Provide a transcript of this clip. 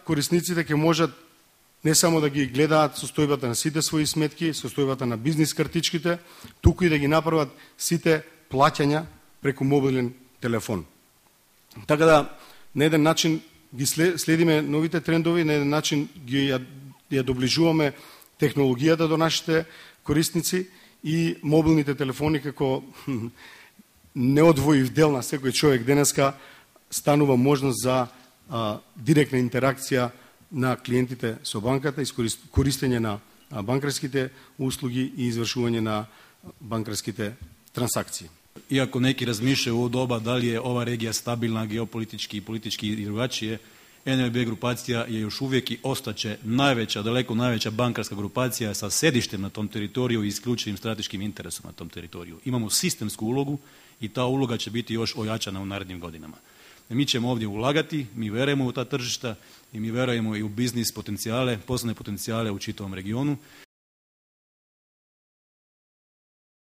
корисниците ќе можат не само да ги гледаат состојбата на сите своји сметки, состојбата на бизнис картичките, туку и да ги направат сите плаќања преку мобилен телефон. Така да, на еден начин ги следиме новите трендови, на еден начин ја доближуваме технологијата до нашите корисници и мобилните телефони како неодвоив дел на секој човек денеска станува можност за директна интеракција на клиентите со банката, користење на банкарските услуги и извршување на банкарските трансакции. Иако неки размишljaju u doba da li je ova regija stabilna geopolitički i politički i drugačije, NLB grupacija je još uvijek i ostaće najveća, daleko najveća bankarska grupacija sa sedištem na tom teritoriju i isključivim strateškim interesom na tom teritoriju. Imamo sistemsku ulogu i ta uloga će biti još ojačana u narednim godinama. Mi ćemo ovdje ulagati, mi verujemo u ta tržišta i mi verujemo i u biznis potencijale, poslovne potencijale u čitavom regionu